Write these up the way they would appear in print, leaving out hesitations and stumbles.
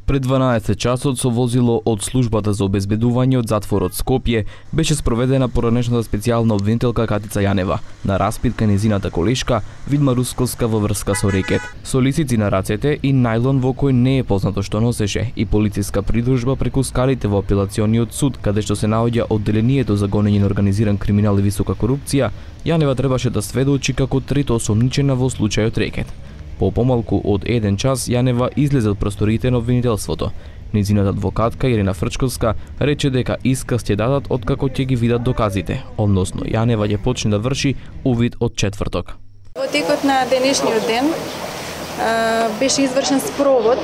Пред 12 часот со возило од службата за обезбедување од затворот Скопје беше спроведена поранешната специјална обвинителка Катица Јанева на распит кај нејзината колешка Видма Русковска во врска со рекет. Со лисици на рацете и најлон во кој не е познато што носеше и полициска придружба преку скалите во апелациониот суд, каде што се наоѓа одделението за гонење на организиран криминал и висока корупција, Јанева требаше да сведочи како трето осомничена во случајот рекет. По помалку од 1 час Јанева излезе од просториите на обвинителството. Нејзината адвокатка Ирина Фрчковска рече дека исказ ќе дадат откако ќе ги видат доказите, односно Јанева ќе почне да врши увид од четврток. Во текот на денешниот ден беше извршен спровод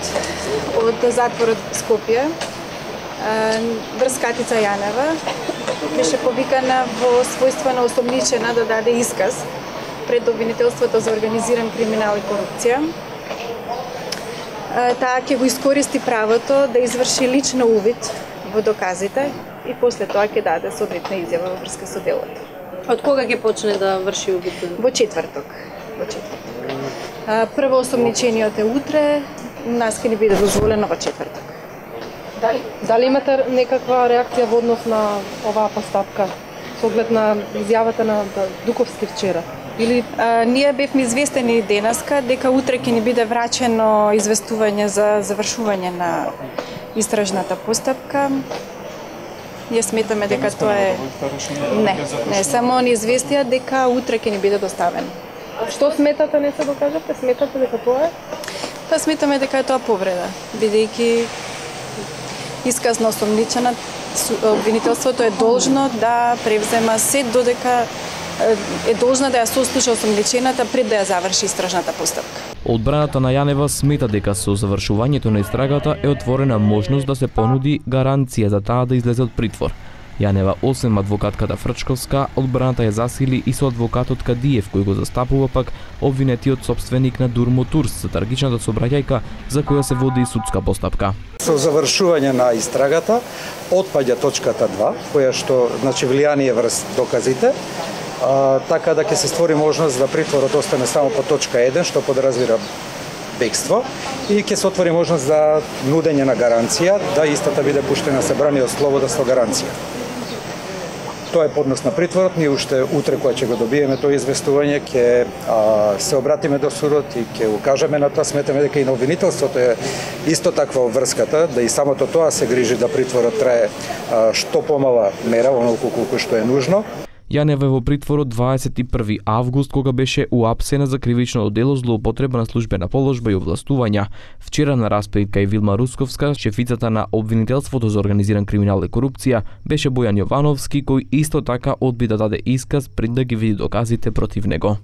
од затворот Скопје врз Катица Јанева. Беше повикана во својство на осомничена да даде исказ пред обвинителството за организиран криминал и корупција. Таа ќе го искористи правото да изврши лично увид во доказите и после тоа ќе даде соодветна изјава во врска со делото. Од кога ќе почне да врши увид? Во четврток. Прво осомничениот е утре, нас ќе ни биде дозволено во четврток. Дали имате некаква реакција во однос на оваа постапка со оглед на изјавата на Дуковски вчера? Или ние бевме известени денеска дека утре ќе ни биде врачено известување за завршување на истражната постапка. Ние сметаме дека тоа е не само ни известија дека утре ќе ни биде доставено. Што сметате, не се докажавте? Сметате дека тоа е? Па сметаме дека е тоа повреда, бидејќи исказ на осомничена, обвинителството е должно да превзема се додека е должна да ја сослуша осомничената пред да ја заврши истражната постапка. Одбраната на Јанева смета дека со завршувањето на истрагата е отворена можност да се понуди гаранција за таа да излезе од притвор. Јанева, освен адвокатката Фрчковска, одбраната ја засили и со адвокатот Кадиев, кој го застапува пак обвинетиот собственик на Дур Моторс за трагичната сообраќајка за која се води и судска постапка. Со завршување на истрагата отпаѓа точката 2, која што значи влијание врз доказите, така да ќе се створи можност да притворот остане само по точка 1, што подразбира бегство, и ќе се отвори можност за нудење на гаранција, да истата биде пуштена се брани од слобода со гаранција. Тоа е поднос на притворот, ние уште утре кога ќе го добиеме тоа известување ќе се обратиме до судот и ќе укажеме на тоа. Сметаме дека и на обвинителството е исто таква обврската, да и самото тоа се грижи да притворот трае што помала мера, онолку колку што е нужно. Јанева е во притвор од 21 август, кога беше уапсена за кривично дело злоупотреба на службена положба и овластувања. Вчера на распит кај Видма Русковска, шефицата на обвинителството за организиран криминал и корупција беше Бојан Јовановски, кој исто така одби да даде исказ пред да ги види доказите против него.